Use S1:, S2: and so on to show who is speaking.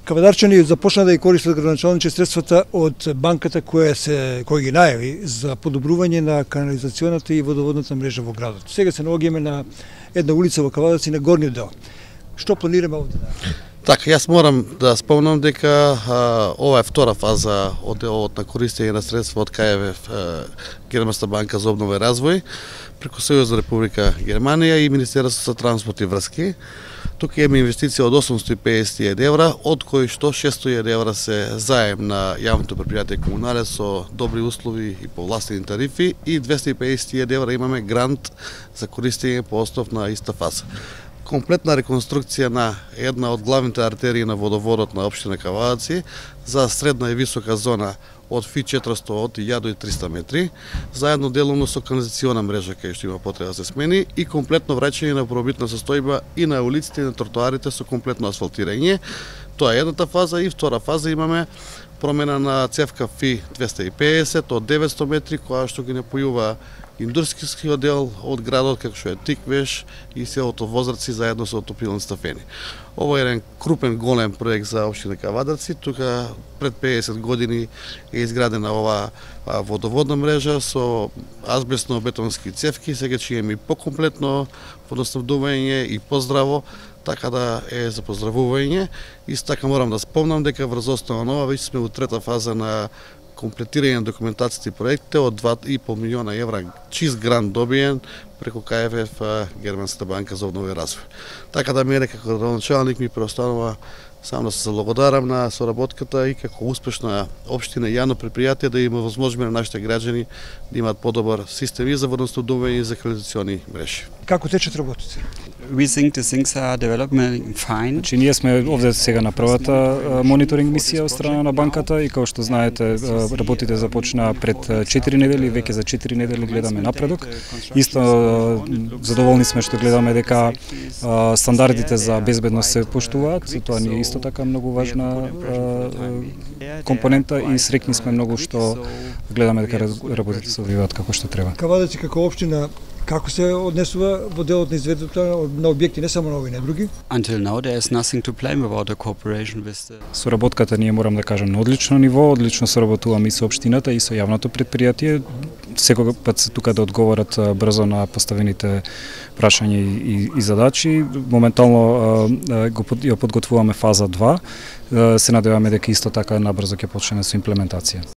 S1: Кавадарчани започна да ја користат градоначалниче средствата од банката која ги најави за подобрување на канализационата и водоводната мрежа во градот. Сега се наоѓаме на една улица во Кавадарци на горниот дел. Што планираме овде?
S2: Така, јас морам да спомнам дека ова е втора фаза од делот на користење на средства од КФВ, Германска банка за обнова и развој, преку Сојузна Република Германија и Министерството за транспорт и врски. Тука имаме инвестиција од 850.000 евра, од кои што 600.000 евра се заем на јавното предпријатие Комунале со добри услови и повластени тарифи и 250.000 евра имаме грант за користење по основ на иста фаза. Комплетна реконструкција на една од главните артерии на водоводот на општина Кавадарци за средна и висока зона од ФИ 400 од 1300 метри, заедно делумно со канализациона мрежа кај што има потреба да се смени и комплетно враќање на пробитна состојба и на улиците и на тротоарите со комплетно асфалтирање. Тоа е едната фаза и втора фаза имаме промена на цевка ФИ 250 од 900 метри која што ги напојува индустријскиот дел од градот како што е Тиквеш и селото Возраци заедно со отопилни стафени. Ова е еден крупен голем проект за општина Кавадарци. Тука пред 50 години е изградена ова водоводна мрежа со азбестно-бетонски цевки, сега ќе имаме и покомплетно водоснабдување и поздраво, така да е за поздравување. Исто така морам да спомнам дека врз основа на ова веќе сме во трета фаза на комплетирање на документацијата и проектите од 2,5 милиона евра чист грант добиен преку КФВ Германската банка за обнова и развој. Така да мене како градоначалник ми преостанува само да се заблагодарам на соработката и како успешна општина и јавно предпријатие да има возможност на нашите граѓани да имаат подобар систем и за водоснабдување и за канализациони мрежи.
S1: Како течат работите?
S3: We think the things are developing fine.
S4: Значи ние сме овде сега на првата мониторинг мисија од страна на банката и како што знаете работите започнаа пред 4 недели, веќе за 4 недели гледаме напредок. Исто задоволни сме што гледаме дека стандардите за безбедност се поштуваат, тоа ни е исто така многу важна компонента и среќни сме многу што гледаме дека работите се одвиваат како што треба.
S1: Кавадарци како општина како се однесува во делот на изведбата на објекти, не само на овој, не други?
S3: Until now there is nothing to blame about the cooperation with the...
S4: Соработката ние морам да кажам на одлично ниво, одлично соработуваме и со општината и со јавното предпријатие. Секогаш пат се тука да одговорат брзо на поставените прашања и задачи. Моментално ја подготвуваме фаза 2. Се надеваме дека исто така набрзо ќе почнеме со имплементација.